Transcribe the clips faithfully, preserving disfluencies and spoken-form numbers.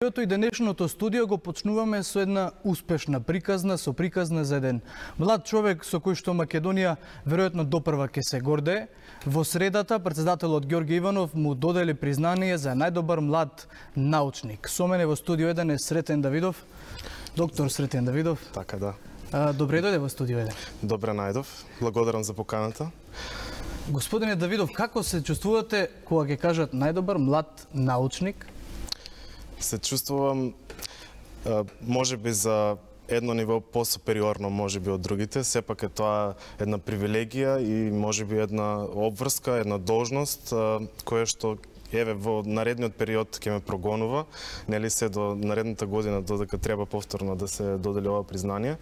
И денешното студио го почнуваме со една успешна приказна, со приказна за еден млад човек со кој што Македонија веројатно допрва ќе се гордее. Во средата претседателот Ѓорѓе Иванов му додели признание за најдобар млад научник. Со мене во студио еден е Сретен Давидов. Доктор Сретен Давидов. Така да. А, добре дојде во студио еден. Добре најдов. Благодарам за поканата. Господине Давидов, како се чувствувате кога ќе кажат најдобар млад научник? Се чувствувам можеби за едно ниво посупериорно можеби од другите, сепак е тоа една привилегија и можеби една обврска, една должност која што еве во наредниот период ќе ме прогонува, нели се до наредната година додека треба повторно да се додели ова признание.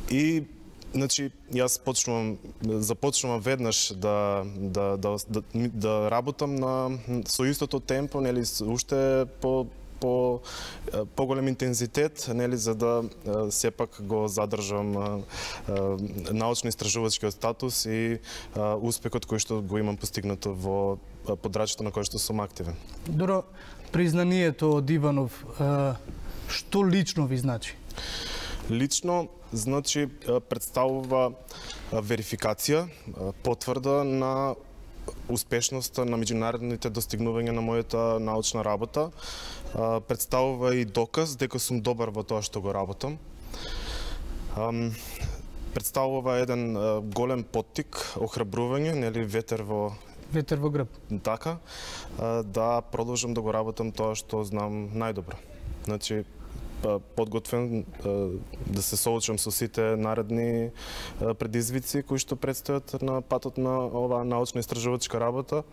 И значи јас почнувам започнувам веднаш да да да да, да работам на со истото темпо, нели уште по по поголем интензитет, нели за да сепак го задржам научно-истражувачкиот статус и успехот кој што го имам постигнато во подрачјето на кој што сум активен. Добро, признанието од Иванов што лично ви значи? Лично значи представува верификација, потврда на успешноста на меѓународните достигнувања на мојата научна работа. Представува и доказ дека сум добар во тоа што го работам. Представува еден голем поттик, охрабрување, нели ветер во ветер во грб. Така, да продолжам да го работам тоа што знам најдобро. Значи подготвен да се соочам со сите наредни предизвици кои што предстојат на патот на оваа научно-истражувачка работа.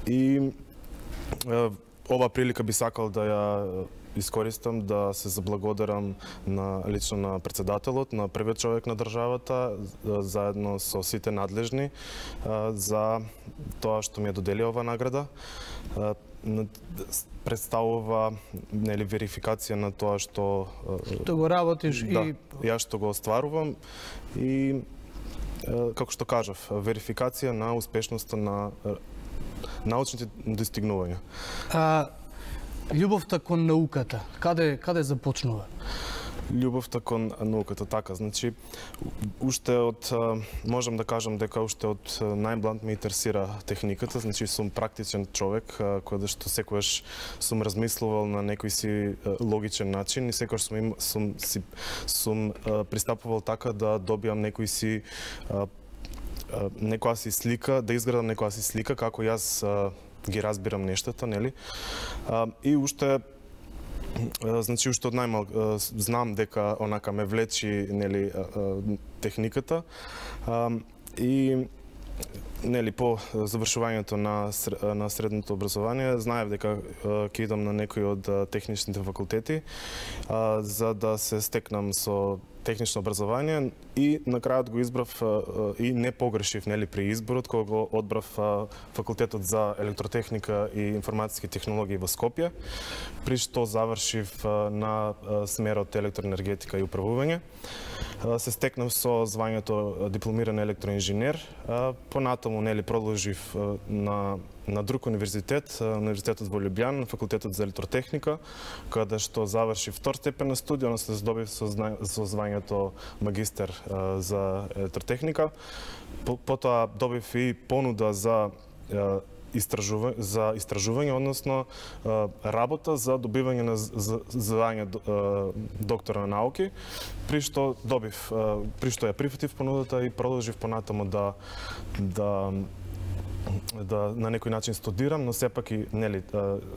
И ова прилика би сакал да ја искористам да се заблагодарам на лично на претседателот, на првиот човек на државата, заедно со сите надлежни за тоа што ми ја додели ова награда. Представува нели верификација на тоа што што го работиш да, и јас што го остварувам и како што кажав, верификација на успешноста на научните достигнувања. А љубовта кон науката, каде каде започнува? Љубовта кон науката, така, значи уште од можам да кажам дека уште од најмлад ме интересира техниката, значи сум практичен човек кој што секогаш сум размислувал на некој си логичен начин и секогаш сум им, сум си сум пристапувал така да добиам некој си некоја си слика, да изградам некоја си слика како јас ги разбирам нештата, нели? И уште значи уште од најмал знам дека онака ме влечи, нели, техниката. И нели по завршувањето на на средното образование знаев дека ќе идам на некој од техничните факултети за да се стекнам со технично образование и на крајот го избрав и не погрешив, нели, при изборот кога го одбрав факултетот за електротехника и информатски технологии во Скопје, при што завршив на смерот електроенергетика и управување. Се стекнав со звањето дипломиран електроинженер, понатаму нели продолжив на на друг универзитет, универзитетот во Лјубљана, факултетот за електротехника, каде што завршив втор степен на студија, но се здобив со, со звањето магистер за електротехника. Потоа добив и понуда за истражување, за истражување, односно работа за добивање на звање доктор на науки, при што добив, при што ја прифатив понудата и продолжив понатаму да да да на некој начин студирам, но сепак и нели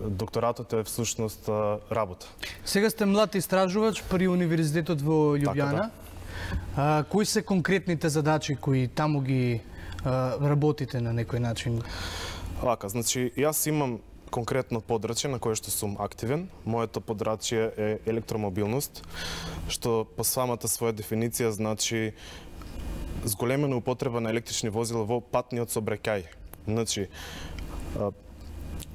докторатот е всушност работа. Сега сте млад истражувач при универзитетот во Лјубљана. Така, да. А, кои се конкретните задачи кои таму ги а, работите на некој начин? Вака, значи јас имам конкретно подрачје на кое што сум активен. Моето подрачје е електромобилност, што по самата своја дефиниција значи зголемена употреба на електрични возила во патниот сообраќај. Значи,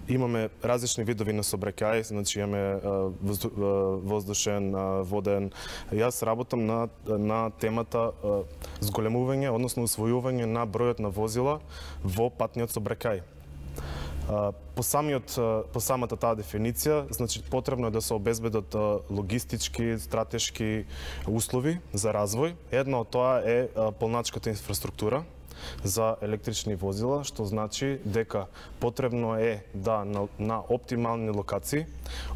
имаме различни видови на сообраќај, значи имаме воздушен, воден. Јас работам на на темата зголемување, односно усвојување на бројот на возила во патниот сообраќај. По самиот по самата таа дефиниција, значи потребно е да се обезбедат логистички, стратешки услови за развој. Едно од тоа е полначката инфраструктура за електрични возила, што значи дека потребно е да на, на оптимални локации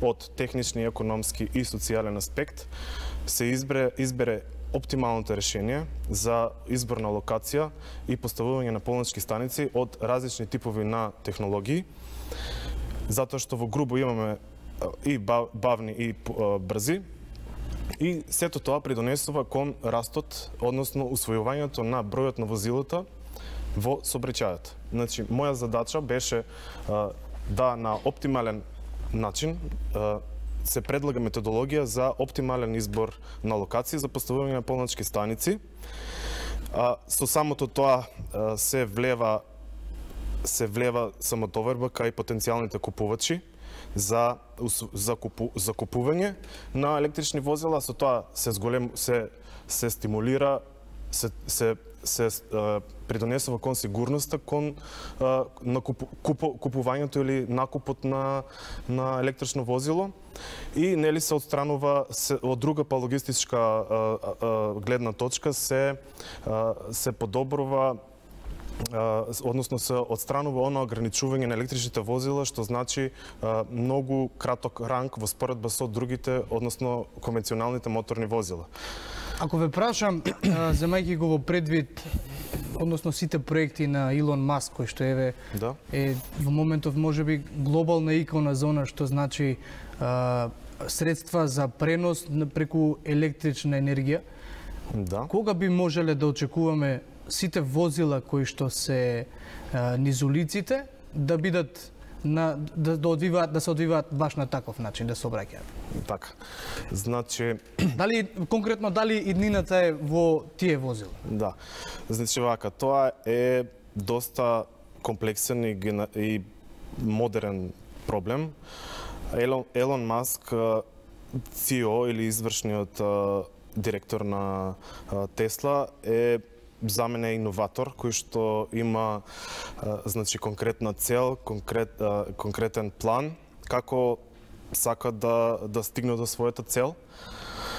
од технични, економски и социјален аспект се избере, избере оптималното решение за избор на локација и поставување на полнички станици од различни типови на технологии, затоа што во грубо имаме и бавни и брзи, и сето тоа придонесува кон растот, односно усвојувањето на бројот на возилата во сообраќајот. Значи, моја задача беше а, да на оптимален начин а, се предлага методологија за оптимален избор на локации за поставување на полнички станици. А, со самото тоа а, се влева се влева самотоварба кај потенцијалните купувачи за за, купу, за купување на електрични возила, со тоа се зголем се се стимулира се се се а, придонесува кон сигурноста, кон а, на купу, купу, купувањето или накупот на на електрично возило и нели се отстранува се, од друга па логистичка а, а, гледна точка се а, се подобрува односно се отстранува оно ограничување на електричните возила, што значи а, многу краток ранг во споредба со другите, односно конвенционалните моторни возила. Ако ве прашам, земајќи го во предвид, односно сите проекти на Илон Маск, кој што еве да. е во моментов можеби глобална икона за она што значи а, средства за пренос преку електрична енергија, да. Кога би можеле да очекуваме сите возила кои што се а, низ улиците да бидат на да, да одвиваат да се одвиваат баш на таков начин, да се обраќаат? Така. Значи дали конкретно дали иднината е во тие возила? Да. Значи вака, тоа е доста комплексен и, и модерен проблем. Елон, Елон Маск, си и о или извршниот директор на Тесла, е за мене иноватор кој што има а, значи конкретна цел, конкрет, а, конкретен план како сака да да стигне до својата цел.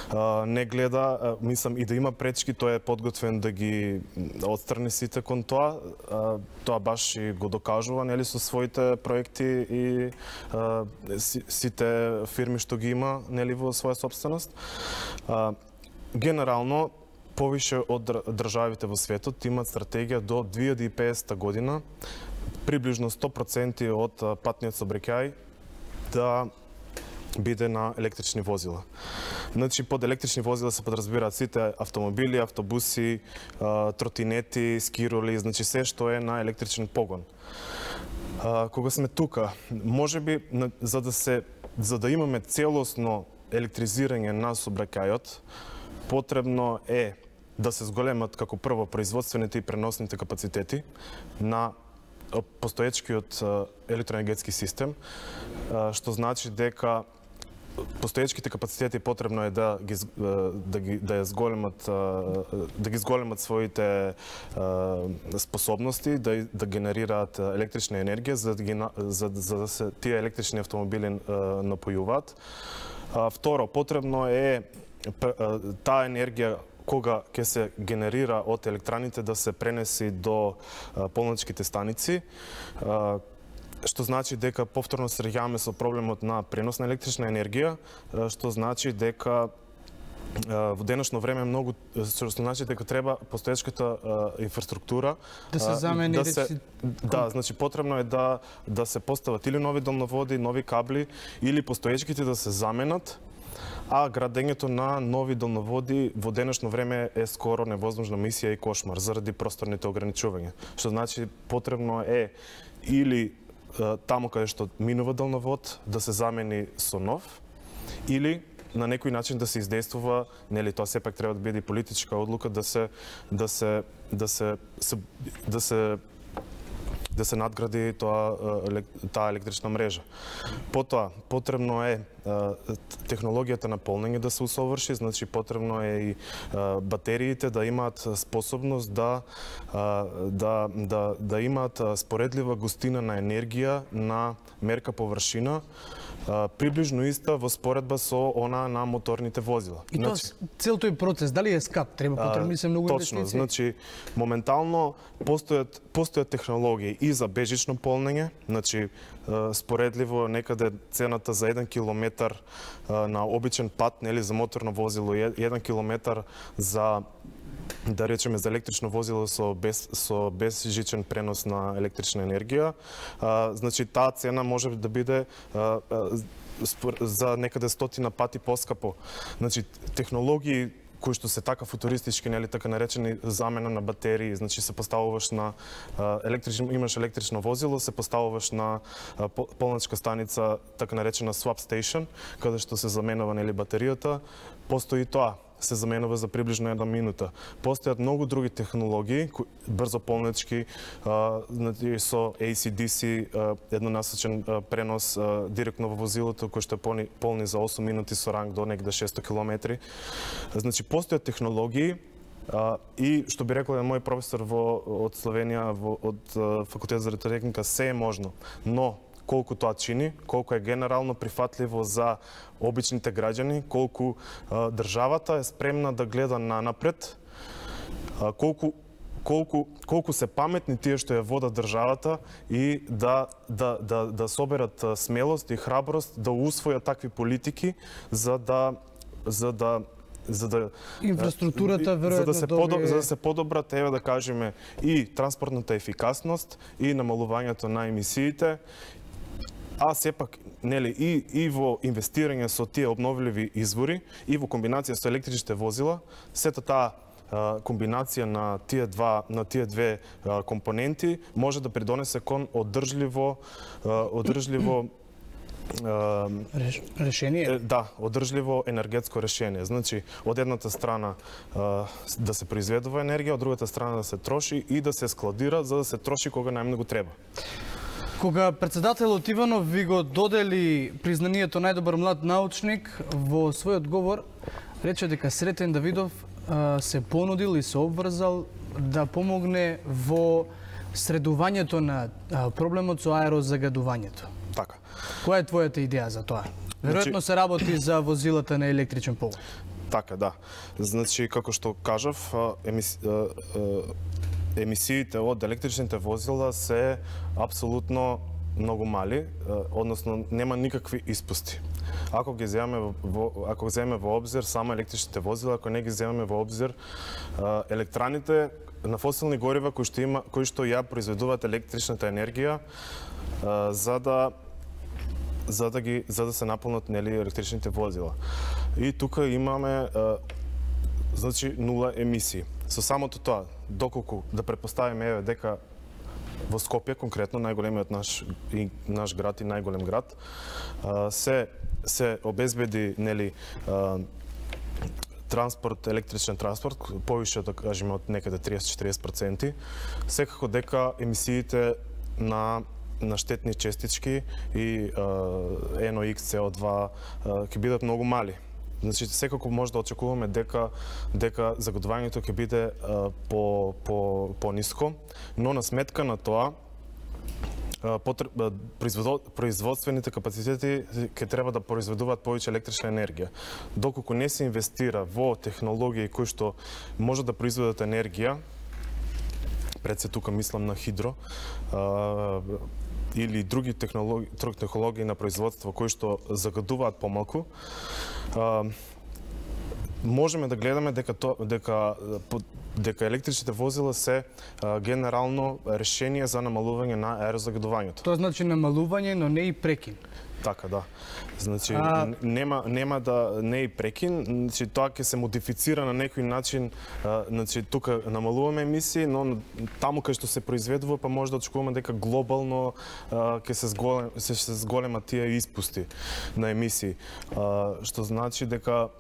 А, не гледа, а, мислам и да има пречки, тој е подготвен да ги отстрани сите кон тоа. А, тоа баш и го докажува нели со своите проекти и а, си, сите фирми што ги има нели во своја собственост. А, генерално повише од државите во светот имаат стратегија до две илјади и педесета година приближно сто проценти од патниот сообраќај да биде на електрични возила. Значи под електрични возила се подразбираат сите автомобили, автобуси, тротинети, скироли, значи се што е на електричен погон. Кога сме тука, можеби за да се за да имаме целосно електризирање на сообраќајот, потребно е да се зголемат како прво производствените и преносните капацитети на постоечкиот електроенергетски систем, што значи дека постоечките капацитети потребно е да ги да ги да ја зголемат да ги зголемат своите способности да да генерираат електрична енергија за да ги за, за да се тие електрични автомобили напојуваат. Второ, потребно е таа енергија кога ќе се генерира од електраните да се пренеси до полничките станици, што значи дека повторно се среќаваме со проблемот на пренос на електрична енергија, што значи дека во денешно време многу што значи дека треба постоечката инфраструктура да се замени да се, да, значи потребно е да да се постават или нови долноводи, нови кабли или постоечките да се заменат, а градењето на нови долноводи во денешно време е скоро невозможна мисија и кошмар заради просторните ограничувања. Што значи потребно е или таму каде што минува долновод да се замени со нов, или на некој начин да се издействува, нели тоа сепак треба да биде политичка одлука да се да се да се да се да се надгради тоа таа електрична мрежа. Потоа потребно е технологијата на полнење да се усоврши, значи потребно е и батериите да имаат способност да да да да имаат споредлива густина на енергија на мерка површина, приближно иста во споредба со она на моторните возила. И тоа цел тој процес дали е скап, треба потребни се многу инвестиции. Точно, значи моментално постојат постојат технологии и за бежично полнење, значи споредливо некаде цената за еден километар на обичен пат, нели за моторно возило, еден километар за да речеме за електрично возило со без со безжичен пренос на електрична енергија, а, значи таа цена може да биде а, а, за некаде стотина пати поскапо. Значи технологии кои што се така футуристички, нели така наречени замена на батерии, значи се поставуваш на електрично, имаш електрично возило, се поставуваш на полначка станица, така наречена swap station, каде што се заменува нели батеријата, постои тоа. Се заменува за приближно една минута. Постојат многу други технологии, брзо полнечки, со A C D C, еднонасочен пренос директно во возилото, кој што е полни за осум минути со ранг до негде шесто километри. Значи, постојат технологии, и што би рекол мој професор во, од Словенија, во, од Факултет за електротехника, се е можно. Но, колку тоа чини, колку е генерално прифатливо за обичните граѓани, колку а, државата е спремна да гледа на напред, а, колку колку колку се паметни тие што ја водат државата и да да да да соберат смелост и храброст да усвојат такви политики за да за да за да инфраструктурата веројатно за да се добие... подоб, за да се подобрат, еве да кажеме, и транспортната ефикасност и намалувањето на емисиите, а сепак нели и и во инвестирање со тие обновливи извори и во комбинација со електричните возила, сета таа а, комбинација на тие два на тие две а, компоненти може да придонесе кон одржливо а, одржливо Реш, решение? Да, одржливо енергетско решение. Значи, од едната страна а, да се произведува енергија, од другата страна да се троши и да се складира за да се троши кога најмногу треба. Кога председателот Иванов ви го додели признанието најдобар млад научник, во својот говор рече дека Сретен Давидов а, се понудил и се обврзал да помогне во средувањето на а, проблемот со аерозагадувањето. Така. Која е твојата идеја за тоа? Веројатно се работи за возилата на електричен погон. Така, да. Значи, како што кажав, емис... емисиите од електричните возила се апсолутно многу мали, односно нема никакви испусти. Ако ги земеме во, ако земеме во обзир само електричните возила, ако не ги земеме во обзир електраните на фосилни горива кои што има, кои што ја произведуваат електричната енергија, за да за да ги за да се наполнат нели електричните возила. И тука имаме значи нула емисии. Со самото тоа, доколку да претпоставиме еве дека во Скопје конкретно најголемиот наш и наш град и најголем град се се обезбеди нели транспорт, електричен транспорт, повише да кажеме од некаде триесет до четириесет проценти, секако дека емисиите на на штетни честички и ен о икс, С О два ќе бидат многу мали. Значи секако може да очекуваме дека дека загадувањето ќе биде а, по по пониско, но на сметка на тоа потреб, производствените капацитети ќе треба да произведуваат повеќе електрична енергија. Доколку не се инвестира во технологии кои што може да произведат енергија, пред се тука мислам на хидро, а, или други технологии, технологии на производство кои што загадуваат помалку, а, можеме да гледаме дека то, дека дека електричните возила се а, генерално решение за намалување на аерозагадувањето. Тоа значи намалување, но не и прекин. Така, да. Значи а... нема нема да не и прекин, значи тоа ќе се модифицира на некој начин, а, значи тука намалуваме емисии, но таму кај што се произведува па може да очекуваме дека глобално а, ќе се зголем се, се зголема тие испусти на емисии. А, што значи дека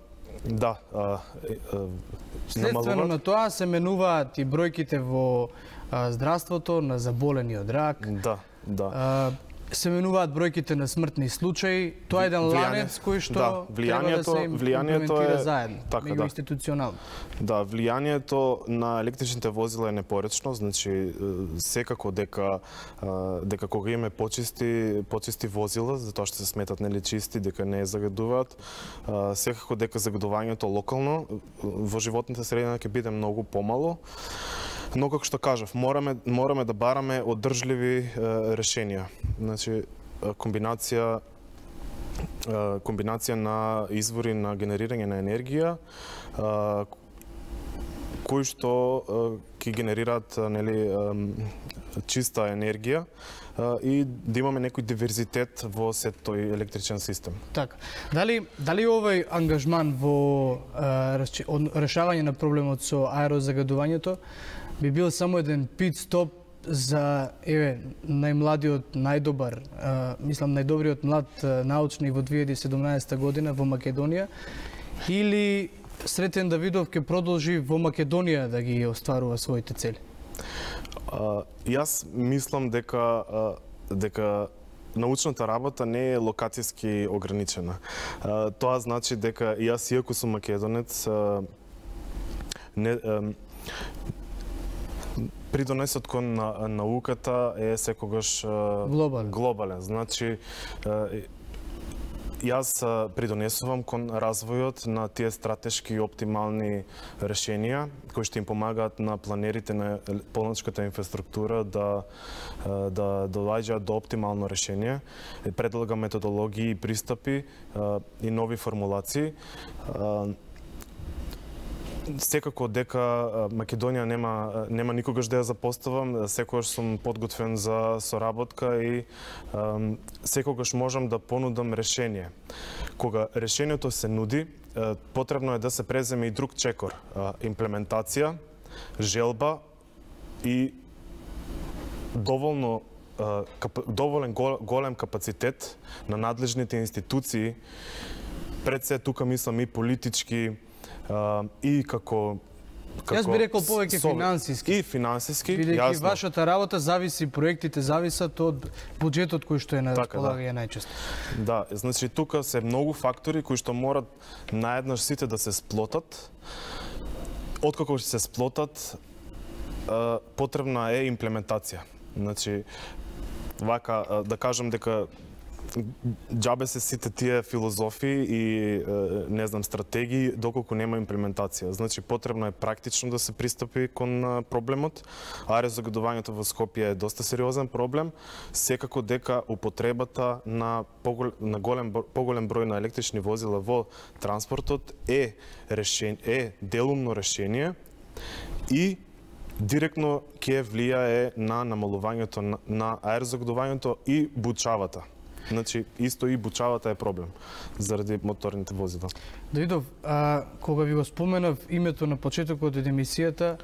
да, а, а, следствено на тоа се менуваат и бројките во а, здравството на заболени од рак. Да, да. А, се менуваат бројките на смртни случаи, тоа е еден ланец кој што да, треба да се имплементира е заедно, така, меѓу да. институционално. Да, влијанието на електричните возила е непоречно, значи секако дека дека кога имаме почисти почисти возила, затоа што се сметат нели чисти, дека не загадуваат, секако дека загадувањето локално во животната средина ќе биде многу помало. Но како што кажав, мораме мораме да бараме одржливи е, решенија. Значи комбинација е, комбинација на извори на генерирање на енергија е, кои што ќе генерираат нели чиста енергија и да имаме некој диверзитет во сет тој електричен систем. Така. Дали дали овој ангажман во а, решавање на проблемот со аерозагадувањето би бил само еден пит стоп за еве најмладиот, најдобар, а, мислам најдобриот млад научник во две илјади и седумнаесетта година во Македонија, или Сретен Давидов ќе продолжи во Македонија да ги остварува своите цели? Uh, јас мислам дека uh, дека научната работа не е локацијски ограничена. Uh, тоа значи дека јас, иако сум македонец, uh, не uh, придонесот кон на, науката е секогаш uh, глобален. глобален. Значи uh, јас придонесувам кон развојот на тие стратешки и оптимални решенија кои што им помагаат на планерите на полночката инфраструктура да да доаѓаат до оптимално решение, предлага методологии и пристапи и нови формулации. Секако дека Македонија нема нема никогаш да ја запоставам, секогаш сум подготвен за соработка и um, секогаш можам да понудам решение. Кога решението се нуди, потребно е да се преземе и друг чекор, имплементација, желба и доволно доволен голем капацитет на надлежните институции, пред се тука мислам и политички, Uh, и како како Јас би рекол повеќе финансиски. И финансиски, бидејќи јасно. вашата работа зависи, проектите зависат од буџетот кој што е на располагање да. најчесто. Да, значи тука се многу фактори кои што морат наеднаш сите да се сплотат. Откако ќе се сплотат, uh, потребна е имплементација. Значи вака uh, да кажам дека џабе се сите тие филозофии и не знам стратегии доколку нема имплементација. Значи потребно е практично да се пристапи кон проблемот. Аерозагадувањето во Скопје е доста сериозен проблем. Секако дека употребата на поголем, на голем поголем број на електрични возила во транспортот е решен, е делумно решение и директно ќе влијае на намалувањето на, на аерозагадувањето и бучавата. Значи, исто и бучавата е проблем заради моторните возила. Давидов, а, кога ви го споменав името на почетокот од емисијата,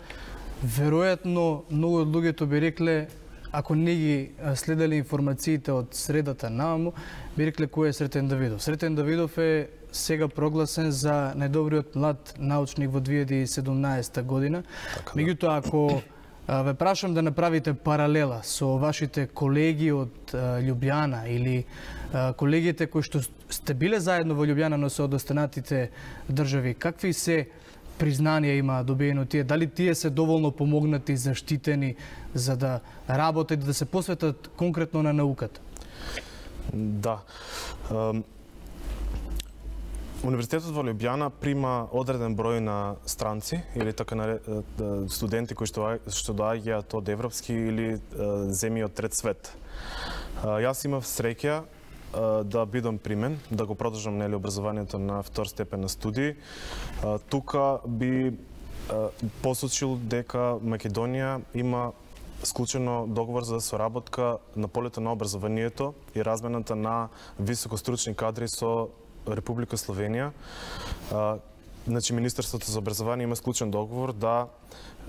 веројатно многу од луѓето би рекле, ако не ги следеле информациите од средата нааму, би рекле кој е Сретен Давидов. Сретен Давидов е сега прогласен за најдобриот млад научник во две илјади и седумнаесетта година. Така, меѓутоа, ако ве прашам да направите паралела со вашите колеги од Љубљана или колегите кои што сте биле заедно во Љубљана, но се од останатите држави, какви се признанија има добиено тие? Дали тие се доволно помогнати, заштитени за да работат и да се посветат конкретно на науката? Да. Универзитетот во Љубљана прима одреден број на странци или така на студенти кои што што доаѓаат од европски или земји од трет свет. Јас имав среќа да бидам примен, да го продолжам нели образованието на втор степен на студии. Тука би посочил дека Македонија има склучено договор за соработка на полето на образованието и размената на високостручни кадри со Република Словенија. А, значи Министерството за образование има склучен договор да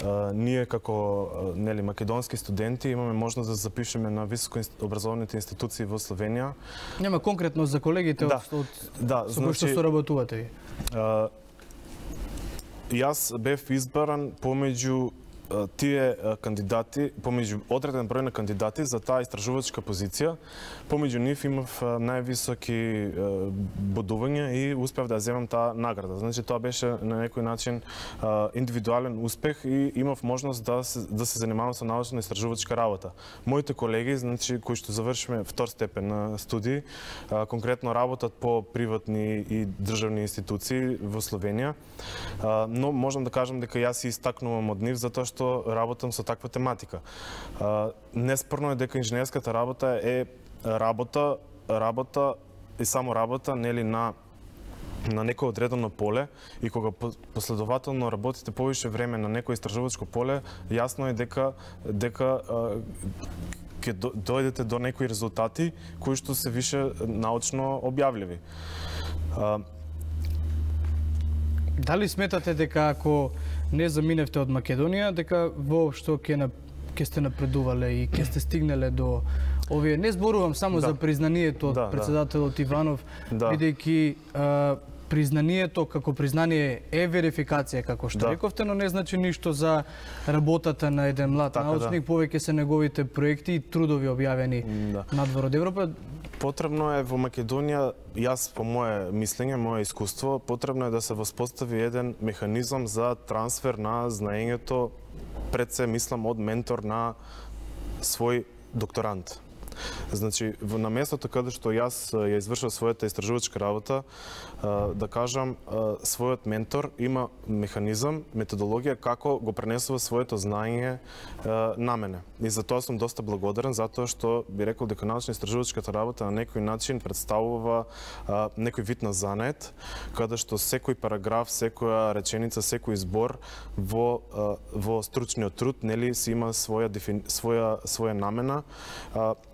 а, ние како нели македонски студенти имаме можност да запишеме на високо образовните институции во Словенија. Нема конкретно за колегите да, од, од да, со кои што соработувате ви? А, јас бев избран помеѓу тие кандидати, помеѓу одреден број на кандидати за таа истражувачка позиција, помеѓу нив имав највисоки бодувања и успев да земам таа награда. Значи тоа беше на некој начин индивидуален успех и имав можност да се, да се занимавам со научна истражувачка работа. Моите колеги, значи кои што завршиме втор степен на студии, конкретно работат по приватни и државни институции во Словенија, но можам да кажам дека јас се истакнувам од нив затоа што работам со таква тематика. Неспорно е дека инженерската работа е работа, работа и само работа, нели, на на некој одредено поле, и кога последователно работите повише време на некој истражувачко поле, јасно е дека дека ќе дојдете до некои резултати кои што се више научно објавливи. Дали сметате дека ако не заминевте од Македонија, дека воопшто ќе на ќе сте напредувале и ќе сте стигнале до овие, не зборувам само да. за признанието од да, претседателот Иванов, да. бидејќи признанието како признание е верификација, како што да. рековте, но не значи ништо за работата на еден млад така, научник, да. повеќе се неговите проекти и трудови објавени да. надвор од Европа. Потребно е во Македонија, јас по мое мислење, мое искуство, потребно е да се воспостави еден механизам за трансфер на знаењето, пред се мислам од ментор на свој докторант. Значи, на местото каде што јас ја извршав својата истражувачка работа, да кажам, својот ментор има механизам, методологија како го пренесува своето знаење на мене. И за тоа сум доста благодарен, затоа што би рекол дека научно-истражувачката работа на некој начин представува некој вид на занет, каде што секој параграф, секоја реченица, секој збор во во стручниот труд, нели, си има своја своја своја намена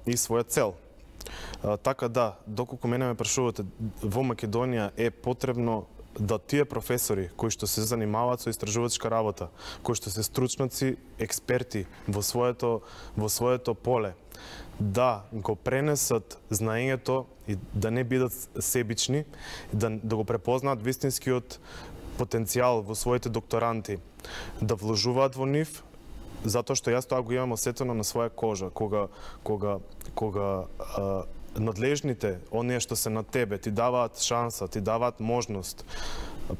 и своја цел. А, така да, доколку мене ме прашувате, во Македонија е потребно да тие професори кои што се занимаваат со истражувачка работа, кои што се стручници, експерти во своето во своето поле, да го пренесат знаењето и да не бидат себични, да, да го препознаат вистинскиот потенцијал во своите докторанти, да вложуваат во нив, затоа што јас тоа го имам осетено на своја кожа, кога кога кога а, надлежните, оние што се на тебе, ти даваат шанса, ти даваат можност,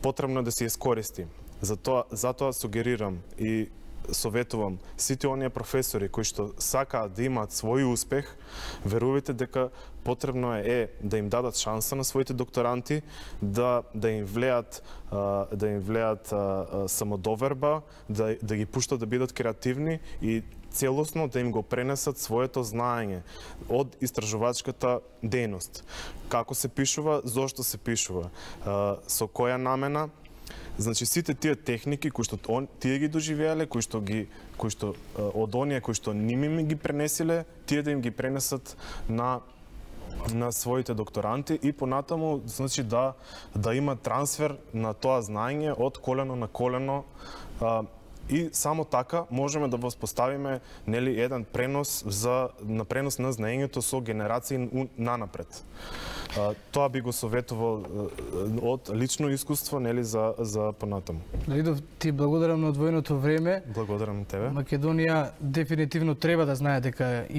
потребно е да се искористи. Затоа затоа сугерирам и советувам сите оние професори кои што сакаат да имаат свој успех, верувајте дека потребно е да им дадат шанса на своите докторанти, да да им влеат да им влеат самодоверба, да да ги пуштат да бидат креативни и целосно да им го пренесат своето знаење од истражувачката дејност. Како се пишува, зошто се пишува, со која намена. Значи сите тие техники кои што он, тие ги доживеале, кои што ги кои што од оние кои што ними ми ги пренесиле, тие да им ги пренесат на на своите докторанти и понатаму, значи да да има трансфер на тоа знаење од колено на колено, а, и само така можеме да воспоставиме, нели, еден пренос за на пренос на знаењето со генерации нанапред. А, тоа би го советувал од лично искуство, нели, за за понатаму. Лидов, ти благодарам на одвоеното време. Благодарам тебе. Македонија дефинитивно треба да знае дека има